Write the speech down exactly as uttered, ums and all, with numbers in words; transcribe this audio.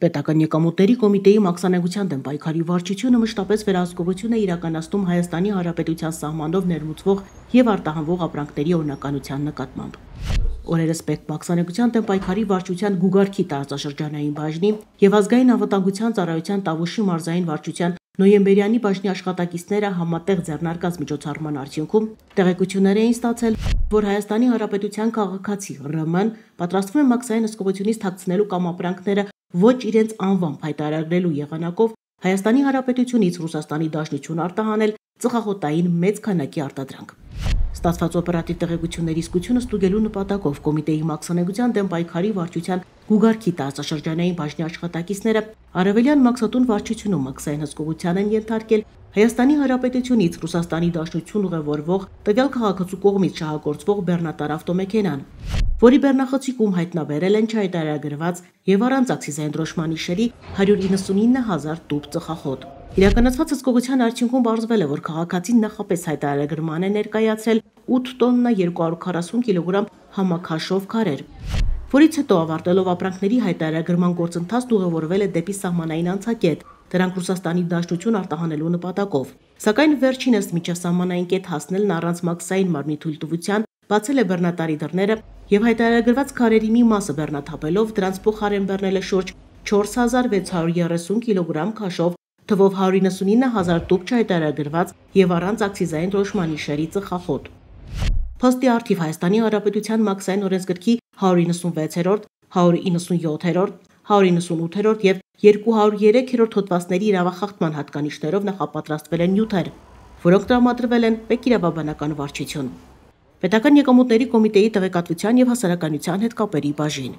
Պետական եկամուտների կոմիտեի մաքսանեկության դեմ պայքարի վարչությունը մշտապես վերահսկողություն է իրականացնում Հայաստանի Հանրապետության սահմանով ներմուծվող եւ արտահանվող ապրանքների օրինականության նկատմամբ։ Օրերս պետ մաքսանեկության դեմ պայքարի վարչության Գուգարքի տարածաշրջանային բաժնի եւ ազգային անվտանգության ծառայության Տավուշի մարզային վարչության նոյեմբերյանի բաժնի աշխատակիցները համատեղ ձեռնարկած միջոցառման արդյունքում տեղեկություններ էին ստացել, որ Հայաստանի Հանրապետության քաղաքացի ՌՄ-ն պատրաստվում է մաքսային հսկողությունից թաքցնելու կամ ապրանքները ոչ իրենց անվամբ հայտարարելու եղանակով Հայաստանի Հանրապետությունից Ռուսաստանի Դաշնություն արտահանել ծխախոտային մեծ քանակի արտադրանք։ Ստացված օպերատիվ տեղեկությունների իսկությունը ստուգելու նպատակով կոմիտեի մաքսանեկության դեմ պայքարի վարչության Գուգարքի տարածաշրջանային բաժնի աշխատակիցները Արևելյան մաքսատուն վարչությունում մաքսային հսկողության են ենթարկել Հայաստանի Հանրապետությունից Ռուսաստանի Դաշնություն ուղևորվող տվյալ քաղաքացու կողմից շահագործվող բեռնատար ավտոմեքենան, որի բեռնախցիկում հայտնաբերել են չհայտարարագրված եւ առանց ակցիզային դրոշմանի շերի հարյուր իննսունինը հազար տուփ ծխախոտ։ Իրականացված հսկողության արդյունքում պարզվել է, որ քաղաքացին նախապես հայտարարագրման է ներկայացրել ութ տոննա երկու հարյուր քառասուն կիլոգրամ համաքաշով քարեր, որից հետո ավարտելով ապրանքների հայտարարագրման գործընթացն ուղևորվել է դեպի սահմանային անցակետ, դրանք Ռուսաստանի Դաշնություն արտահանելու նպատակով։ Սակայն վերջինս միջասահմանային կետ հասնելն առանց մաքսային մարմնի թույլտվության բացել է բեռնատարի դռները եւ հայտարարագրված քարերի մի մասը բեռնաթափելով դրանց փոխարեն բեռնել է շուրջ չորս հազար վեց հարյուր երեսուն կիլոգրամ քաշով, թվով հարյուր իննսունինը հազար տուփ չհայտարարագրված եւ առանց ակցիզային դրոշմանի շերի ծխախոտ։ Փոստի առթիվ Հայաստանի Հանրապետության մաքսային օրենսգրքի հարյուր իննսունվեցերորդ, հարյուր իննսունյոթերորդ, հարյուր իննսունութերորդ եւ երկու հարյուր երեքերորդ հոդվածների իրավախախտման հատկանիշներով նախապատրաստվել են նյութեր, որոնք տրամադրվել են Պետիրավաբանական վարչություն։ Պետական եկամուտների կոմիտեի տեղեկատվության եւ հասարակայնության հետ կապերի բաժին։